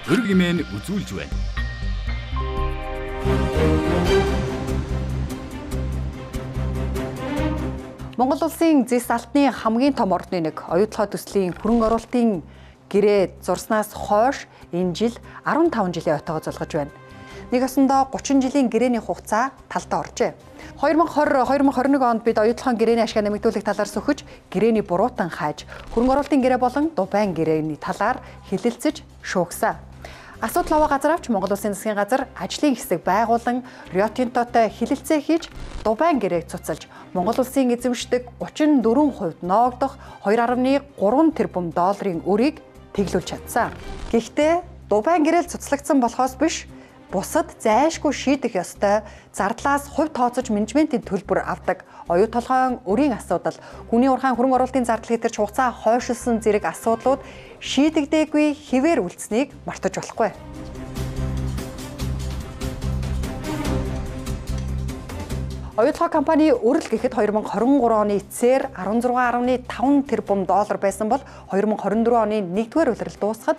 өрг хэмээн үзүүлж байна. Монгол улсын зэс алтны хамгийн том ордны нэг оюутлогоо төслийн хөрөнгө оруулалтын гэрээ зурснаас хойш энэ жил 15 жилийн ойтойгоо зулгаж байна. Нэг осондоо 30 жилийн гэрээний хугацаа талдаа оржээ. 2020-2021 онд бид оюутлогын гэрээний ашгаа нэмэгдүүлэх талаар сөхөж, гэрээний буруутан хааж, хөрөнгө оруулалтын гэрээ болон дубайн гэрээний талаар хэлэлцэж шүүгсэн. Асуудал аваа газар авч Монгол Улсын засгийн газар ажлын хэсэг байгуулан Rio Tintoтой хэлэлцээ хийж дубайн гэрээг цуцалж Монгол Улсын эзэмшдэг 34% ноогдох 2.3 тэрбум долларын өрийг тэглүүлж чадсан. Гэхдээ дубайн гэрээл цуцлагдсан болохоос биш, бусад зайлшгүй шийдэх ёстой зардлаас хувь тооцож менежментийн төлбөр авдаг оюу толгойн өрийн асуудал, хүний ургаан хөрөнгө оруулалтын зардал хэтэрч хугацаа хойшилсан зэрэг асуудлууд шийдэгдээгүй хэвээр үлдсэнийг мартаж болохгүй. Оюутлогоо компани өрөл гэхэд 2023 оны эцсээр 16.5 тэрбум доллар байсан бол 2024 оны 1-р улирал дуусахад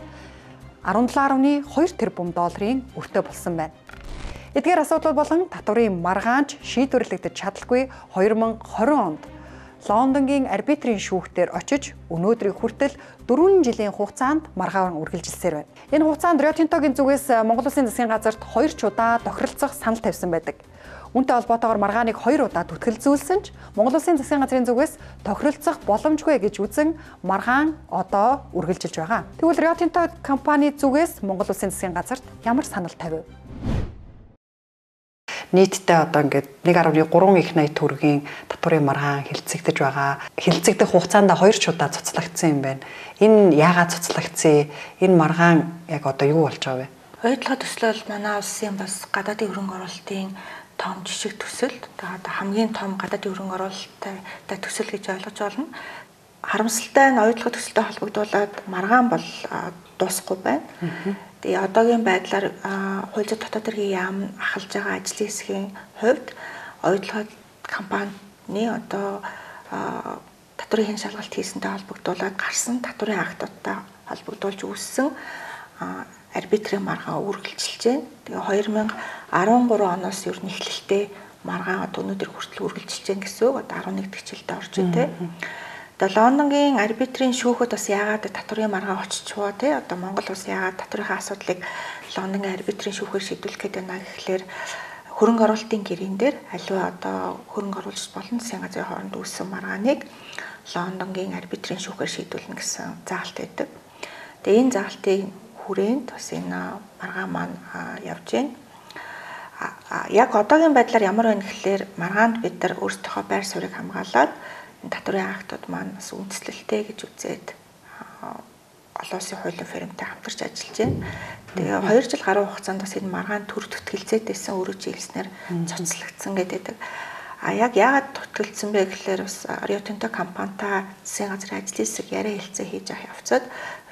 17.2 тэрбум долларын өртөө болсон байна. Эдгээр асуудлууд болон татварын маргаанч шийдвэрлэгдэж чадалгүй 2020 онд Лондонгийн арбитрийн шүүхтээр очиж өнөөдрийг хүртэл 4 жилийн хугацаанд маргаан үргэлжилсээр байна. Энэ хугацаанд Rio Tinto-гийн зүгээс Монгол Улсын засгийн газарт 2 ч удаа тохиролцох санал тавьсан байдаг. Үүнтэй холбоотойгоор маргааныг 2 удаа түтгэлзүүлсэн ч Монгол Улсын засгийн газрын зүгээс тохиролцох боломжгүй гэж үзэн маргаан одоо үргэлжилж байгаа. Тэгвэл Rio Tinto компани зүгээс Монгол Улсын засгийн газарт ямар санал тавив? Нийтдээ одоо ингээд 1.3 их 80 төгрөгийн татварын маргаан хэлэлцэгдэж байгаа. Хэлэлцэгдэх хугацаанд 2 ч удаа цуцлагдсан юм байна. Энэ яагаад цуцлагдсан? Энэ маргаан яг одоо юу болж байгаа вэ? Оюутлогоо төслөл манай улсын бас гадаадын хөрөнгө оруулалтын том жишг төсөл. Тэгээд хамгийн том гадаадын хөрөнгө оруулалттай төсөл гэж ойлгож байна. Харамсалтай нь оюутлогоо төсөлтэй холбогдуулаад маргаан бол дуусахгүй байна. Тэгээ одоогийн байдлаар хууль зүйн дотоод хэргийн яам ахалж байгаа ажлын хэсгийн хувьд оюутлогоо компани одоо татварын хэн шалгалт хийсэнтэй холбогдуулаад гарсан татварын актуудтай холбогдуулж үүссэн арбитрийн маргаан үргэлжилж байна. Тэгээ 2013 оноос ер нь эхлэлтэй маргаан одоо өнөөдөр хүртэл үргэлжилж байна гэсэн үг. Одоо 11 дахь жилдээ орж байна те. Тэгээ Лондонгийн арбитрийн шүүхэд бас яагаад татварын маргаан оччихвоо те. Одоо Монгол улс яагаад татварын асуудлыг Лондонгийн арбитрийн шүүхээр шийдвэрлэх гээд байна гэхлээр хөрөнгө оруулалтын гэрэн дээр аливаа одоо хөрөнгө оруулагч болон засгийн газрын хооронд үүссэн маргааныг Лондонгийн арбитрийн шүүхээр шийдвэрлэнэ гэсэн заалт байдаг. Тэгээ энэ заалтын хүрээнд бас энэ маргаан маань явж байна. Яг одоогийн байдлаар ямар байна гэхлээр маргаанд бид нар өөрсдийнхөө байр суурийг хамгаалаад энэ татварын актууд маань бас үндэслэлтэй гэж үзээд олон улсын хуулийн фирмтэй хамтарч ажиллаж байна. Тэгээ 2 жил гаруй хугацаанд бас энэ маргаан төр төтгөлцөөтэйсэн өөрөө жилснээр цоцлогдсон гэдэг. Яг яагаад төтгөлдсөн бэ гэхлээр бас Rio Tinto компанитай засгийн газрын ажлын хэсэг яриа хэлцээ хийж авах явцад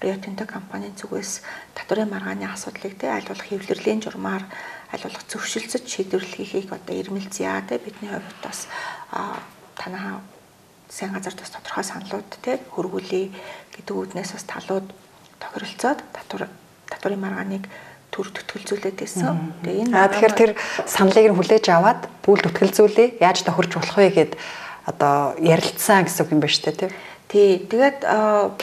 Rio Tinto компанийн зүгээс татварын маргааны асуудлыг аль болох хэвлэрлэлийн журмаар аль болох зөвшөлдсөж шийдвэрлэхийг одоо ирмэлзъя те бидний хувьд бас танаа засгийн газарт бас тодорхой саналууд те хөргүүлээ гэдэг үүднээс бас талууд тохиролцоод татварын маргааныг төр төтгөлзүүлээд байсан. Тэгээ энэ тэгэхээр тэр саналыг нь хүлээж аваад пүүл төтгөлзүүлээ яаж тохирч болох вэ гэд одоо ярилцсан гэсэн үг юм байна шүү дээ тий. Тэгээд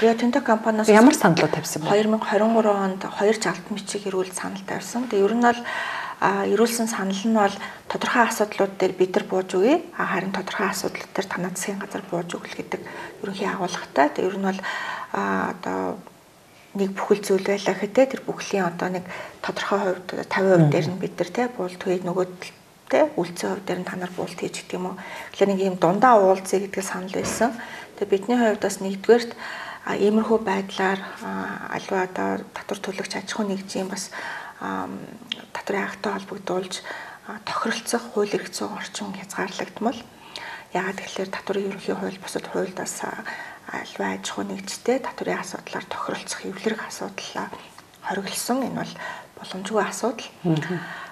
Rio Tinto компаниас ямар саналууд тавьсан бэ? 2023 онд 2 жалт мичиг ирүүл санал тавьсан. Тэгээ ер нь бол ирүүлсэн санал нь бол тодорхой асуудлууд дээр бид нар бууж өгье. Харин тодорхой асуудлууд дээр танай засгийн газар бууж өгөл гэдэг ерөнхий агуулгатай. Тэгээ ер нь бол одоо нэг бүхэл зүйл байлаа гэхтээ тэр бүхлийн одоо нэг тодорхой хувьд 50% дээр нь бид нар те буулт хий нөгөөд те үлцэн хувь дээр нь та нар буулт хийж гэдэг юм уу. Тэгэхээр нэг юм дундаа уулзъя гэдэг санал байсан. Тэгээ бидний хувьд бас нэгдүгээрт иймэрхүү байдлаар аливаа одоо татвар төлөгч аж ахуйн нэгжийн бас татварын акттай холбогдуулж тохиролцох хууль эрх зүйн орчин хязгаарлагдмал. Яагаад гэвэл татварын ерөнхий хууль бусад хуульдаас аливаа аж ахуйн нэгжтэй татварын асуудлаар тохиролцох эвлэрэх асуудлаа хориглосон. Энэ бол боломжгүй асуудал.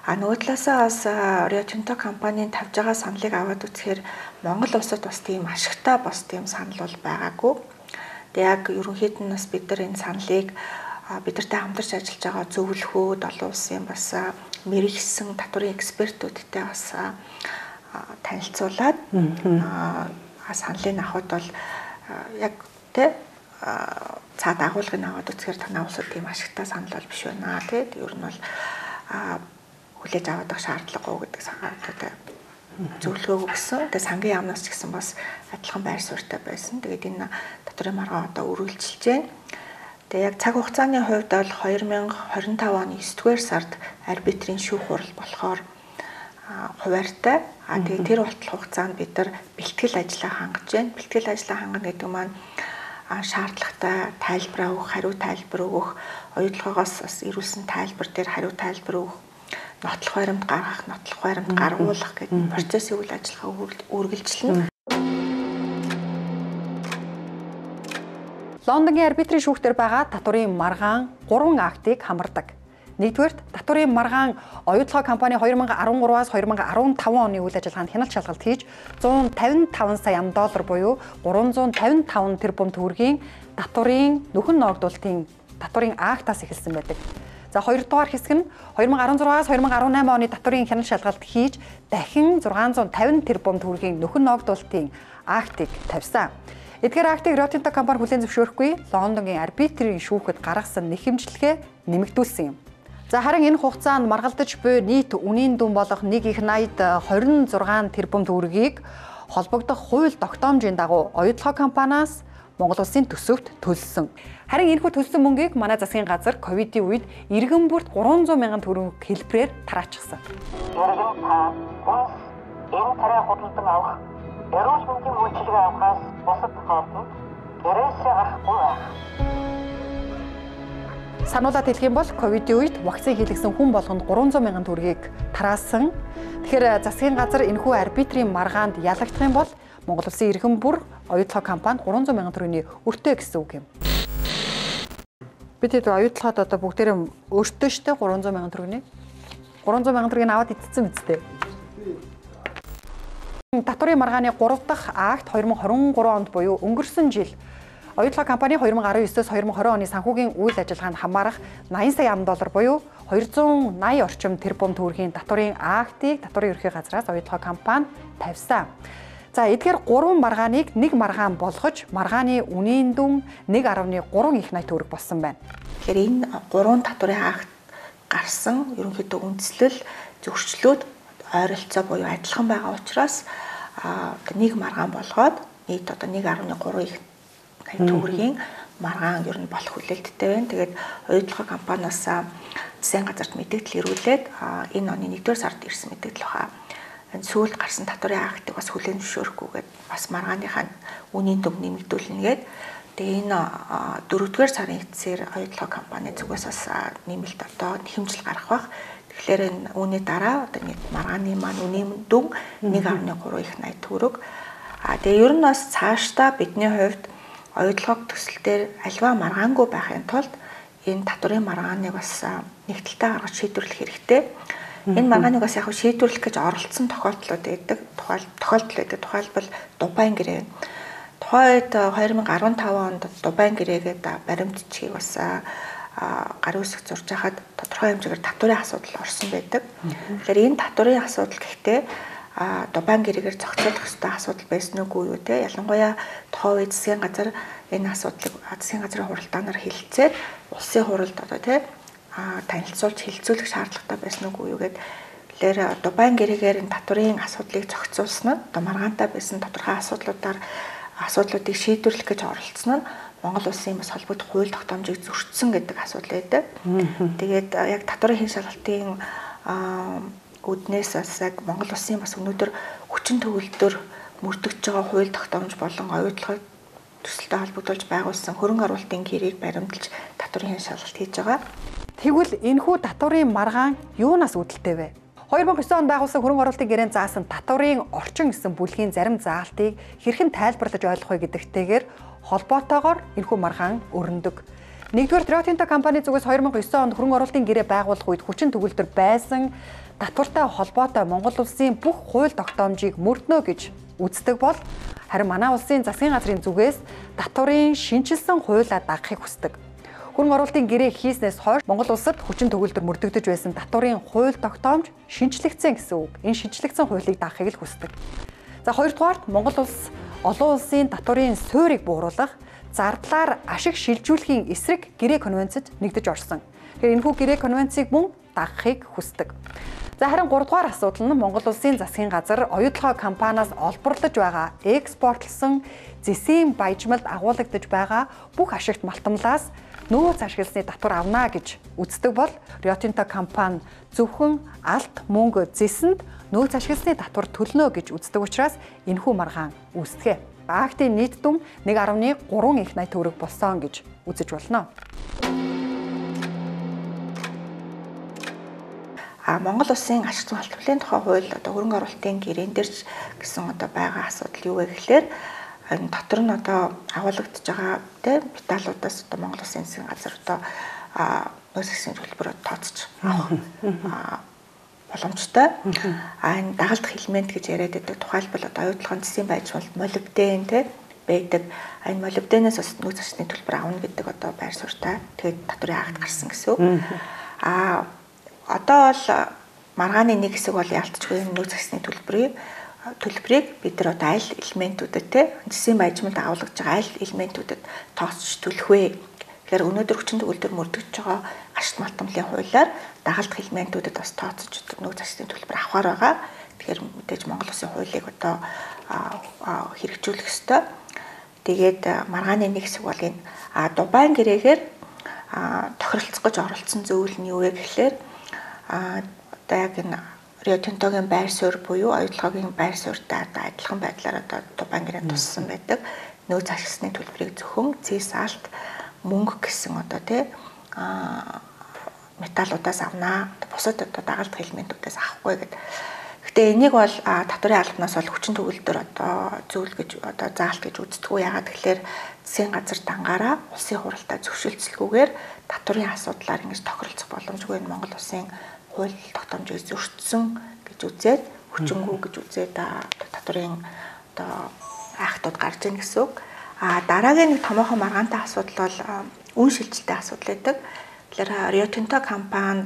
Нөгөө талаасаа бас Rio Tinto компанийн тавьж байгаа саналыг аваад үзэхээр Монгол улсад бас тийм ашигтай бас тийм санал бол байгаагүй. Тэгээ яг ерөнхийд нь бас бид нар энэ саналыг бидэртэй хамтарч ажиллаж байгаа зөвлөхөөд олон улсын бас мэрэгсэн татварын экспертүүдтэй бас танилцуулаад саналыг авахд бол яг тэ цаад агуулгыг аваад үзэхээр танаа улсад тийм ашигтай санал бол биш байна тий. Ер нь бол хүлээж аваад байх шаардлагагүй гэдэг санаатай зөвлөгөө өгсөн. Тэгээ сангийн яамнаас ч гэсэн бас адилхан байр суурьтай байсан. Тэгээд энэ татварын маргаан одоо үргэлжилж байна. Тэгээ яг цаг хугацааны хувьд бол 2025 оны 9-р сард арбитрийн шүүх хурал болохоор хуваартай. Тэгээ тэр хугацаанд бид нар бэлтгэл ажлаа хангаж байна. Бэлтгэл ажлаа хангана гэдэг маань шаардлагатай тайлбар өгөх, хариу тайлбар өгөх, оюутлагоос бас ирүүлсэн тайлбар дээр хариу тайлбар өгөх, нотлох баримт гаргах, нотлох баримт гаргуулах гэдэг процессын үйл ажиллагаа үргэлжилнэ. Лондонгийн арбитрийн шүүхтэр байгаа татварын маргаан 3 актыг хамардаг. Нэгдүгээр татварын маргаан оюутлогоо компани 2013-аас 2015 оны үйл ажиллагаанд хяналт шалгалт хийж 155 сая $1 буюу 355 тэрбум төгрөгийн татварын нөхөн ногдуулалтын татварын актаас эхэлсэн байдаг. За хоёрдугаар хэсэг нь 2016-аас 2018 оны татварын хяналт шалгалт хийж дахин 650 тэрбум төгрөгийн нөхөн ногдуулалтын актыг тавьсан. Эдгээр актыг Rio Tinto компани хүлээн зөвшөөрөхгүй Лондонгийн арбитрийн шүүхэд гаргасан нэхэмжлэгээ нэмэгдүүлсэн юм. За харин энэ хугацаанд маргалдаж буй нийт үнийн дүн болох 1.80 26 тэрбум төгрөгийг холбогдох хууль тогтоомжийн дагуу оюутлогоо компаниас Монгол улсын төсөвт төлсөн. Харин энэхүү төлсөн мөнгийг манай засгийн газар ковидын үед иргэн бүрт 300 мянган төгрөг хэлбэрээр тараачихсан. Иргэн та энэ тарай худалдан авах, эрүүл мэндийн үйлчилгээ авахаас бусад тохиолдолд гэрээсээ гарахгүй байх. Сануулаад хэлэх юм бол ковидын үед вакцин хийлгсэн хүн болгонд 300 мянган төгрөгийг тараасан. Тэгэхээр засгийн газар энэхүү арбитрийн маргаанд ялагдах юм бол Монгол улсын иргэн бүр оюутлогоо компанид 300 мянган төгрөгийн өртөө гэсэн үг юм. Бид хэд оюутлогоод одоо бүгдээрээ өртөө штэ 300 мянган төгрөгийн 300 мянган төгрөгийг аваад идсэн үстэй. Татварын маргааны 3 дахь акт 2023 онд буюу өнгөрсөн жил оюутлогоо компани 2019-с 2020 оны санхүүгийн үйл ажиллагаанд хамаарах 80 сая $1 буюу 280 орчим тэрбум төгрөгийн татварын актыг татварын ерхий газраас оюутлогоо компани тавьсан. За эдгээр 3 маргааныг нэг маргаан болгож маргааны үнийн дүн 1.3 их 80 төгрөг болсон байна. Тэгэхээр энэ 3 татварын акт гарсан ерөнхийдөө үндслэл зөрчлүүд ойролцоо буюу адилхан байгаа учраас нэг маргаан болгоод нийт одоо 1.3 их төгрөгийн маргаан ер нь болох хүлээлттэй байна. Тэгээд оюутлогоо компаниас засгийн газарт мэдээлэл ирүүлээд энэ оны 1-р сард ирсэн мэдээлэл баха. Энэ сүүлд гарсан татварын актыг бас хүлээн зөвшөөрөхгүйгээд бас маргааныхаа үнийн дүн нэмэгдүүлнэ гээд тэгээ энэ 4-р сарын эцсээр оюутлогоо компани зүгээс бас нэмэлт одоо нэхэмжил гарах бах. Тэгэхээр энэ үүний дараа одоо маргааны маань үнийн дүн 1.3 их 80 төгрөг. Тэгээ ер нь бас цаашдаа бидний хувьд оюутлогоо төсөл дээр альва маргаангүй байхын тулд энэ татварын маргааныг бас нэгдэлтэй гаргаж шийдвэрлэх хэрэгтэй. Энэ маргааныг бас яг шийдвэрлэх гэж оролцсон тохиолдлууд байдаг. Тухайлбал Дубайн гэрээ. Тухайд 2015 онд Дубайн гэрээгээд баримтчгийг бас гарын үсэг зурж хахад тодорхой хэмжээгээр татварын асуудал орсон байдаг. Тэгэхээр энэ татварын асуудал гэхдээ Дубайн гэрээгээр зохицуулах ёстой асуудал байсан үгүй юу те. Ялангуяа тухайн үед засгийн газар энэ асуудлыг засгийн газрын хуралдаанаар хэлэлцээд улсын хуралд одоо те танилцуулж хэлэлцүүлэх шаардлагатай байсан үгүй юу гэд. Тэгэхээр Дубайн гэрээгээр энэ татварын асуудлыг зохицуулсан нь одоо маргаантай байсан тодорхой асуудлуудыг шийдвэрлэх гэж оролцсон нь Монгол улсын бас холбогдох хууль тогтоомжийг зөрчсөн гэдэг асуудал байдаг. Тэгээд яг татварын хэн шалгалтын үүднээс бас яг Монгол улсын бас өнөөдөр хүчин төгөлдөр мөрдөгдөж байгаа хууль тогтоомж болон оюутлогоо төсөлтэй холбогдуулж байгуулсан хөрөнгө оруулалтын гэрээг баримталж татварын хэн шалгалт хийж байгаа. Тэгвэл энэхүү татварын маргаан юунаас үүдэлтэй вэ? 2009 онд байгуулсан хөрөнгө оруулалтын гэрээнд заасан татварын орчин гэсэн бүлгийн зарим заалтыг хэрхэн тайлбарлаж ойлгох вэ гэдэгтэйгээр холбоотойгоор энэхүү маргаан өрнөдөг. Нэгдүгээр Rio Tinto компани зүгээс 2009 онд хөрөнгө оруулалтын гэрээ байгуулах үед хүчин төгөлдөр байсан татвартай холбоотой Монгол улсын бүх хууль тогтоомжийг мөрднө гэж үздэг бол харин манай улсын засгийн газрын зүгээс татварын шинжилсэн хуулиа дагахыг хүсдэг. Хөрөнгө оруулалтын гэрээ хийснээс хойш Монгол улсад хүчин төгөлдөр мөрдөгдөж байсан татварын хууль тогтоомж шинжлэгдсэн гэсэн үг. Энэ шинжлэгдсэн хуулийг дагахыг л хүсдэг. За хоёрдугаарт Монгол улс олон улсын татварын суурийг бууруулах, зардлаар ашиг шилжүүлэхийн эсрэг гэрээ конвенцэд нэгдэж орсон. Тэгэхээр энэхүү гэрээ конвенцийг мөн дагахыг хүсдэг. За харин 3 дугаар асуудал нь Монгол улсын засгийн газар оюутлогоо компаниас олборлож байгаа экспортлсон зэсийн баяжмалд агуулгадж байгаа бүх ашигт малтамлаас нөөц ашигласны татвар авна гэж үздэг бол Rio Tinto компани зөвхөн алт мөнгө зэсэнд нөөц ашигласны татвар төлнө гэж үздэг учраас энэхүү маргаан үүсдэгэ. Актын нийт дүн 1.3 их 80 төгрөг болсон гэж үзэж болно. Монгол улсын ашигт малтмлын тухай хууль одоо хөрөнгө оруулалтын гэрээн дээр гэсэн одоо байгаа асуудал юу вэ гэхээр энэ дотор нь одоо агуулгадж байгаа тийм металлуудаас одоо Монгол улсын засгийн газар одоо нөөц ашигын төлбөрөөр тооцож авах боломжтой. Энэ дагалдах элемент гэж яриад байдаг. Тухайлбал одоо оюутлогын зэсийн баяжмалт молибден тийм байдаг. Энэ молибденээс бас нөөц ашигын төлбөр авна гэдэг одоо байр суурьтай. Тэгээд татварын акт гарсан гэсэн үг. Одоо бол маргааны нэг хэсэг бол ялцчихгүй нөөц ашигны төлбөрийг бид нар одоо аль элементүүдэд те зэсийн баяжмалд агуулгаж байгаа аль элементүүдэд тооцож төлөх вэ? Тэгэхээр өнөөдөр хүчин төгөлдөр мөрдөгдөж байгаа ашигт малтмлын хуулиар дагалдах элементүүдэд бас тооцож нөөц ашигны төлбөр авахар байгаа. Тэгэхээр мэдээж Монгол улсын хуулийг одоо хэрэгжүүлэх ёстой. Тэгээд маргааны нэг хэсэг бол энэ Дубайн гэрээгээр тохиролцох гэж оролцсон зөвлөл нь юу вэ гэхлээр одоо яг энэ Rio Tinto-гийн байр суурь буюу оюутлогын байр суурьтай одоо адилхан байдлаар одоо Дубайн гэрээнд туссан байдаг нөөц ашигласны төлбөрийг зөвхөн зэс алт мөнгө гэсэн одоо тий металлуудаас авнаа. Бусад одоо дагалдах элементүүдээс авахгүй гэдэг. Гэхдээ энийг бол татварын албанаас бол хүчин төгөлдөр одоо зөвлөл гэж одоо заалт гэж үздэггүй. Ягаад гэхээр засгийн газар дангаараа улсын хуралдаа зөвшөөрлцөлгүйгээр татварын асуудлаар ингэж тохиролцох боломжгүй энэ Монгол улсын хууль тогтоомжийг зөрчсөн гэж үзээд хүчингү гэж үзээд татварын одоо актууд гарч ийн гэсэн үг. Дараагийн нэг томоохон маргаантай асуудал бол үн шилжилттэй асуудал байдаг. Тэгэхээр Rio Tinto компани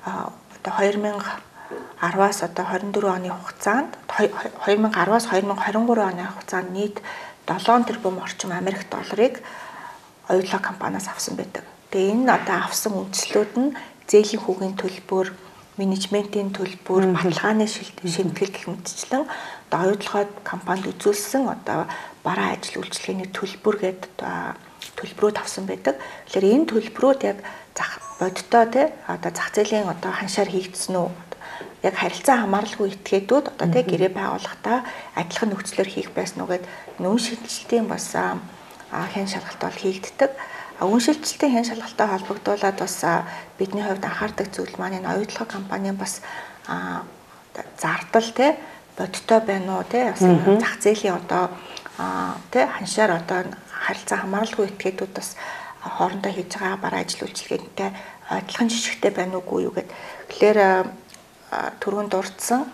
одоо 2010-аас одоо 24 оны хугацаанд 2010-аас 2023 оны хугацаанд нийт 7 тэрбум орчим Америк долларыг оюутлог компаниас авсан байдаг. Тэгээ энэ одоо авсан үндэслүүд нь зээлийн хүүгийн төлбөр, менежментийн төлбөр, баталгааны шимтгэл гэх мэтчлэн одоо оюутлогоо компанид үзүүлсэн одоо бараа ажил үйлчилгээний төлбөр гэдэг төлбөрүүд авсан байдаг. Тэгэхээр энэ төлбөрүүд яг бодиттой тий одоо зах зээлийн одоо ханшаар хийгдсэн үү? Яг харилцаа хамааралгүй этгээдүүд одоо тий гэрээ байгуулахдаа адилхан нөхцлөөр хийх байсан уу гэд үн шилжилтийн бас хэн шалгалт бол хийгддэг. Үн шилжилтийн хэн шалгалттай холбогдуулаад бас бидний хувьд анхаардаг зүйл маань энэ оюутлог компанийн бас зардал тий бодиттой байна уу тий бас зах зээлийн одоо тий ханшаар одоо харилцаа хамааралгүй этгээдүүд бас хоорондоо хийж байгаа бараа ажил үйлчилгээтэй адилхан жишгтэй байна уугүй юу гэд. Тэгэхээр түрүүнд дурдсан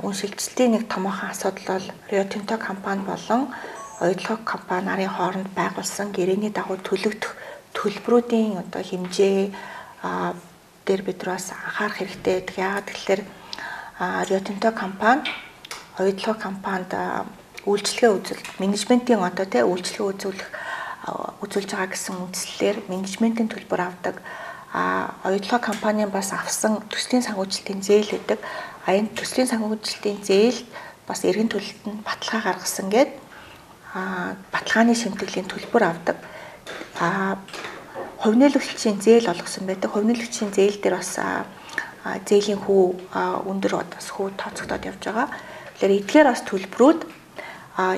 үн шилжилтийн нэг томоохон асуудал бол Rio Tinto компани болон оюутлог компани нарын хооронд байгуулсан гэрээний дагуу төлөгдөх төлбөрүүдийн одоо хэмжээ дээр бид бас анхаарах хэрэгтэй байдаг. Яагаад гэвэл Rio Tinto компани оюутлог компанид үйлчлэгээ үзүүлэх, менежментийн одоо тий үйлчлэгээ үзүүлж байгаа гэсэн үндслээр менежментийн төлбөр авдаг. Оюутлог компанийн бас авсан төслийн санхүүжилтийн зээл гэдэг. Энэ төслийн санхүүжилтийн зээл бас эргэн төлөлт нь баталгаа гаргасан гээд баталгааны шимтгэлийн төлбөр авдаг. Хувь нээлгэгчийн зээл олгосон байдаг. Хувь нээлгэгчийн зээл дээр бас зээлийн хүү өндөр бас хүү тооцогдоод явж байгаа. Тэгэхээр эдгээр бас төлбөрүүд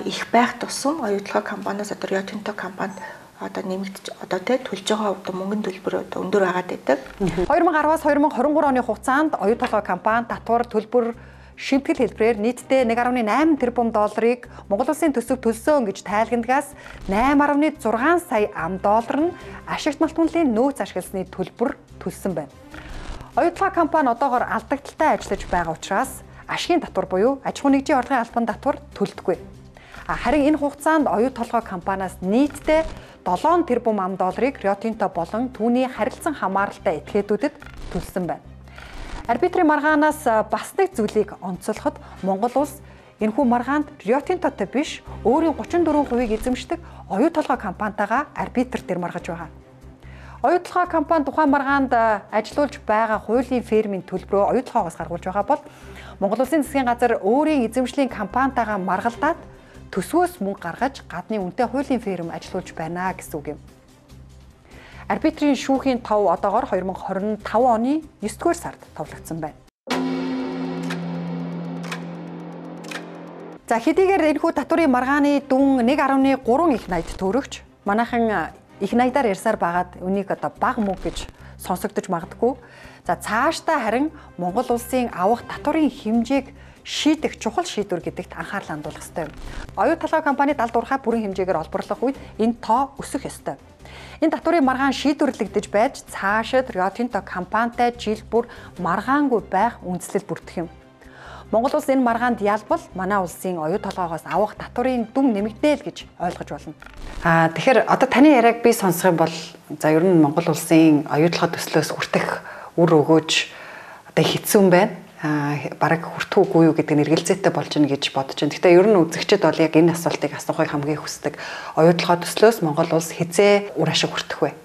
их байх тусам оюутлог компаниас одоо Rio Tinto компанид одоо нэмэгдэж одоо төлж байгаа одоо мөнгөний төлбөр одоо өндөр байгаад байдаг. 2010-аас 2023 оны хугацаанд оюутлог компани татвар төлбөр шимтгэл хэлбэрээр нийтдээ 1.8 тэрбум долларыг Монгол улсын төсөв төлсөн гэж тайлгнадгаас 8.6 сая ам.доллар нь ашигт малтмлын нөөц ашигласны төлбөр төлсөн байна. Оюутлог компани одоогоор алдагдaltaй ажиллаж байгаа учраас ашигын татвар буюу аж ахуйн нэгжийн орлогын албан татвар төлдөггүй. Харин энэ хугацаанд оюут толгой компаниас нийтдээ 7 тэрбум ам долларыг Rio Tinto болон түүний харилцан хамааралтай этгээдүүдэд төлсөн байна. Арбитрийн маргаанаас бас нэг зүйлийг онцлоход Монгол улс энэхүү маргаанд Rio Tinto-той биш өөрийн 34%-ийг эзэмшдэг оюут толгой компанитайгаа арбитр дээр маргаж байгаа. Оюут толгой компани тухайн маргаанд ажиллуулж байгаа хуулийн фирмийн төлбөрөө оюут толгойгоос гаргуулж байгаа бол Монгол Улсын засгийн газар өөрийн эзэмшлийн компанитайгаа маргалдаад төсвөөс мөнгө гаргаж гадны үнэтэй хуулийн фирм ажиллуулж байна гэсэн үг юм. Арбитрийн шүүхийн тов одоогоор 2025 оны 9-р сард товлогдсон байна. За хэдийгээр энэхүү татврын маргааны дүн 1.3 их найд төрөгч манайхан их найдаар ярьсаар байгаад үнийг одоо бага мөнгө гэж сонсогдож магадгүй. За цаашдаа харин Монгол улсын авах татврын хэмжээг шийдэх чухал шийдвэр гэдэгт анхаарал хандуулах ёстой юм. Оюут толгой компани 76 бүрэн хэмжээгээр олборлох үед энэ тоо өсөх ёстой. Энэ татврын маргаан шийдвэрлэгдэж байж цаашид Rio Tinto компанитай жил бүр маргаангүй байх үндслэл бүрдэх юм. Монгол улс энэ маргаанд ялбал манай улсын оюут толгойгоос авах татврын дүн нэмэгдэнэ л гэж ойлгож болно. Тэгэхээр одоо таны яриаг би сонсох юм бол за ер нь Монгол улсын оюут толгой төслөөс хүртэх үр өгөөж одоо хэцүү байна. Бараг хүртэхгүй юу гэдэг нь эргэлзээтэй болж байна гэж бодож байна. Гэхдээ ер нь үзэгчид бол яг энэ асуултыг асуухыг хамгийн хүсдэг. Оюут толгой төслөөс Монгол улс хизээ үр ашиг хүртэх вэ?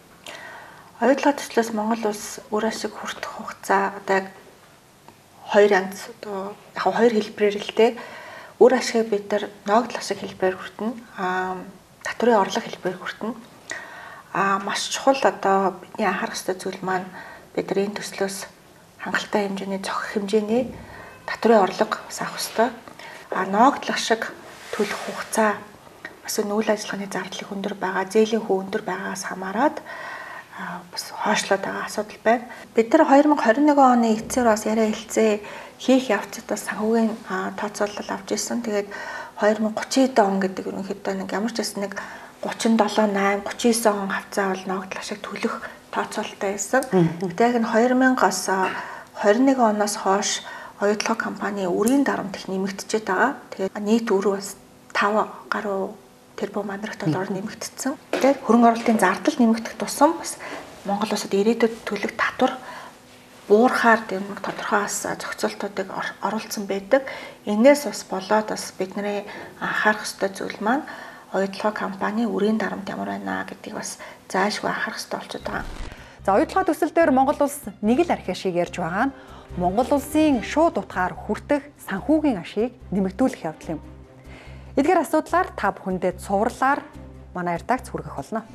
Оюут толгой төслөөс Монгол улс үр ашиг хүртэх хугацаа одоо яг хоёр янз одоо яг хоёр хэлбэрээр л дээ. Үр ашиг бид нар ногдол ашиг хэлбэрээр хүртэнэ. Татврын орлого хэлбэрээр хүртэнэ. Маш чухал одоо бидний анхаарах ёстой зүйл маань бид нар энэ төслөөс хангалттай хэмжээний зохих хэмжээний татврын орлого бас авах ёстой. Ногдол ашиг төлөх хугацаа бас үйл ажиллагааны зардлыг өндөр байгаа, зээлийн хөө өндөр байгаагаас хамаарат бас хойшлоод байгаа асуудал байна. Бид нар 2021 оны эцсээр бас яриа хэлцээ хийх явцад бас санхүүгийн тооцоолол авч ирсэн. Тэгээд 2030 он гэдэг ерөнхийдөө нэг ямар ч байсан нэг 37, 8, 39 он хавцаа бол ногдол ашиг төлөх тооцоололтой байсан. Тэгээд энэ 2000-аас 21 оноос хойш оюут толгой компани үрийн дарамт их нэмэгдчихэд байгаа. Тэгээд нийт өрөө бас 5 гаруй тэрбум мандрах доллараар нэмэгдсэн. Тэгээд хөрөнгө оруулалтын зардал нэмэгдэх тусам бас Монгол улсад ирээдүйд төлөх татвар буурахаар нэг тодорхой бас зохицуултуудыг оруулсан байдаг. Энээс бас болоод бас бидний анхаарах ёстой зүйл маань оюут толгой компани үрийн дарамт ямар байна гэдгийг бас заашгүй анхаарах ёстой болчиход байгаа. За оюут толгой төсөл дээр Монгол улс нэг л архи ашиг ярьж байгаа нь Монгол улсын шууд утгаар хүртэх санхүүгийн ашиг нэмэгдүүлэх явдал юм. Эдгээр асуудлаар та бүхэндээ цувралаар манай редакц хүргэх болно.